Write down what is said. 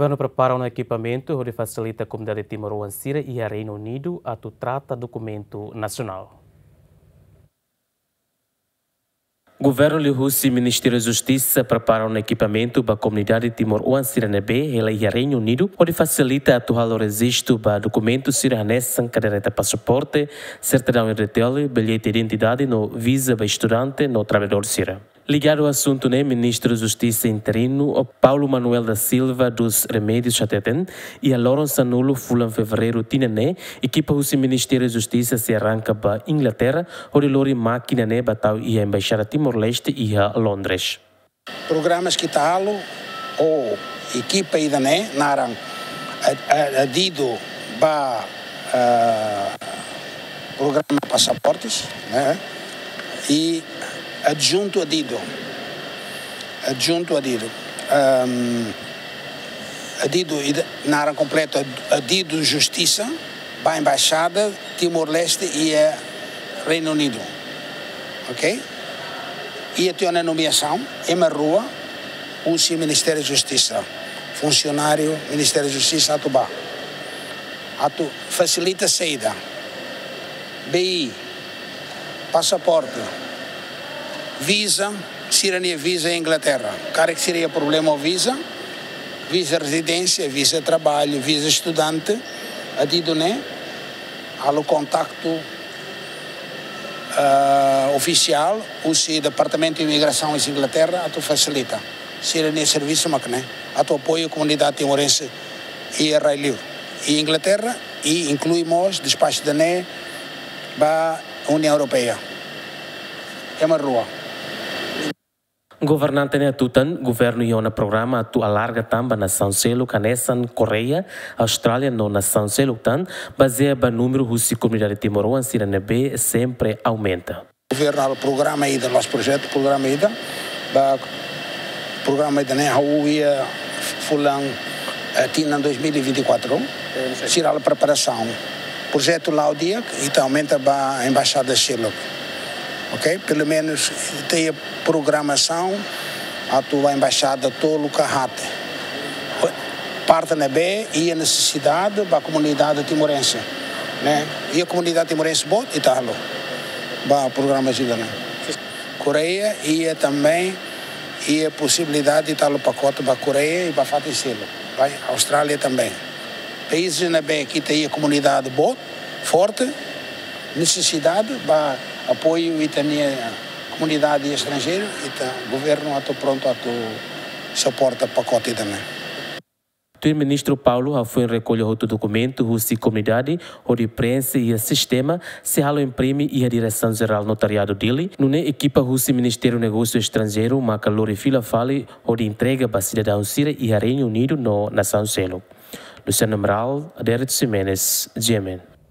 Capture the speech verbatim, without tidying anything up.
Governu prepara ona ekipamentu hodi fasilita komunidade timoroan sira iha Reinu Unidu atu trata dokumentu nasionál. Governu liuhusi Ministériu Justisa prepara ona ekipamentu ba komunidade timoroan sira ne'ebé hela iha Reinu Unidu hodi fasilita atu halo rejistu ba dokumentu sira hanesan kaderneta pasaporte, sertidaun R D T L, billhete identidade no viza ba estudante no traballadór sira. Ligadu asuntu ne'e, Ministru Justisa interinu, Paulo Manuel da Silva dos Remédios hateten, iha loron sanulu fulan Fevereiru tinan ne'e, ekipa husi Ministériu Justisa sei arranka ba Inglaterra, hodi lori mákina ne'e ba tau iha Embaixada Timor-Leste iha Londres. Programas ke ita halo, ou ekipa ida-ne'e naran, a, a, adidu ba, ah, programa pasaportes, ne'e? I adjuntu adidu. Adjuntu adidu. Ahm, adidu, ida, naran kompletu, ad-, adidu Justisa ba Embaixada Timor-Leste iha Reinu Unidu. Ok? I ita iha ona nomeasaun, ema rua, husi Ministériu Justisa. Funsionáriu Ministériu Justisa atu ba. Atu fasilita saida. B I, pasaporte, viza, sira-nia viza Inglaterra. Karik sira iha problema ho viza, viza rezidénsia, viza traballu, viza estudante, adidu ne'e, halo kontaktu, ah, ofisiál, husi Departamentu Imigrasaun iha Inglaterra, atu fasilita. Sira-nia servisu mak ne'e, atu apoiu komunidade timorense iha rai-li'ur. Iha Inglaterra, i inklui mós despaxu ida-ne'e ba Uniaun Europeia. Ema rua. Governante ne'e hatutan, governu iha ona programa atu alarga tan ba nasaun seluk hanesan Koreia, Austrália no nasaun seluk tan, bazeia ba númeru husi komunidade timoroan sira ne'ebé sempre aumenta. Governu halo programa ida, la'ós projetu, programa ida, ba programa ida-ne'e hahú iha fulan, eh, tinan dois mil e vinte e quatro, sira halo preparasaun. Projetu la'o di'ak, ita aumenta ba embaixada seluk. Ok? Pelumenus, ita iha programasaun atu ba embaixada tolu ka haat. Parte ne'ebé iha nesesidade ba komunidade timorense, ne'e? Iha komunidade timorense boot, ita halo ba programa ida-ne'e. Koreia iha também, iha posibilidade ita halo pakote ba Koreia i ba fatin seluk, ba Austrália também. País ne'ebé ke ita iha komunidade boot, forte, nesesidade ba apoiu ita-nia komunidade estranjeiru, ita governu atu prontu atu suporta pakote ida-ne'e. Tuir Ministru Paulo, hafoin rekolla hotu dokumentu husi komunidade hodi preenxe iha sistema, sei halo imprime iha Diresaun Jerál Notariadu Dili, nune'e ekipa husi Ministériu Negósiu Estranjeiru maka lori fila fali hodi entrega ba sidadaun sira iha Reinu Unidu no nasaun seluk. Luciano Amaral, Adérito Ximenes, G M N.